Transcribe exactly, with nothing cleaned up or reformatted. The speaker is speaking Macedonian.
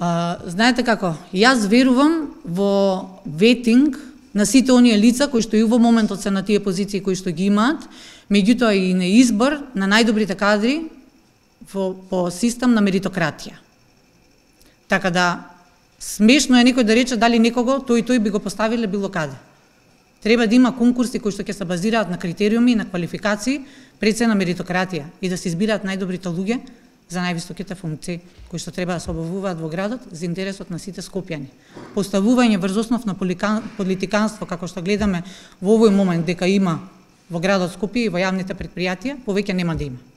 А, знаете како, јас верувам во ветинг на сите оние лица кои што и во моментот се на тие позиции кои што ги имаат, меѓутоа и на избор на најдобрите кадри во, по систем на меритократија. Така да, смешно е некој да рече дали некого тој и тој би го поставиле било каде. Треба да има конкурси кои што ќе се базираат на критериуми и на квалификации пред се на меритократија и да се избираат најдобрите луѓе за највисоките функции кои што треба да се обавуваат во градот за интересот на сите скопјани. Поставување врз основ на политиканство, како што гледаме во овој момент дека има во градот Скопје и во јавните претпријатија, повеќе нема да има.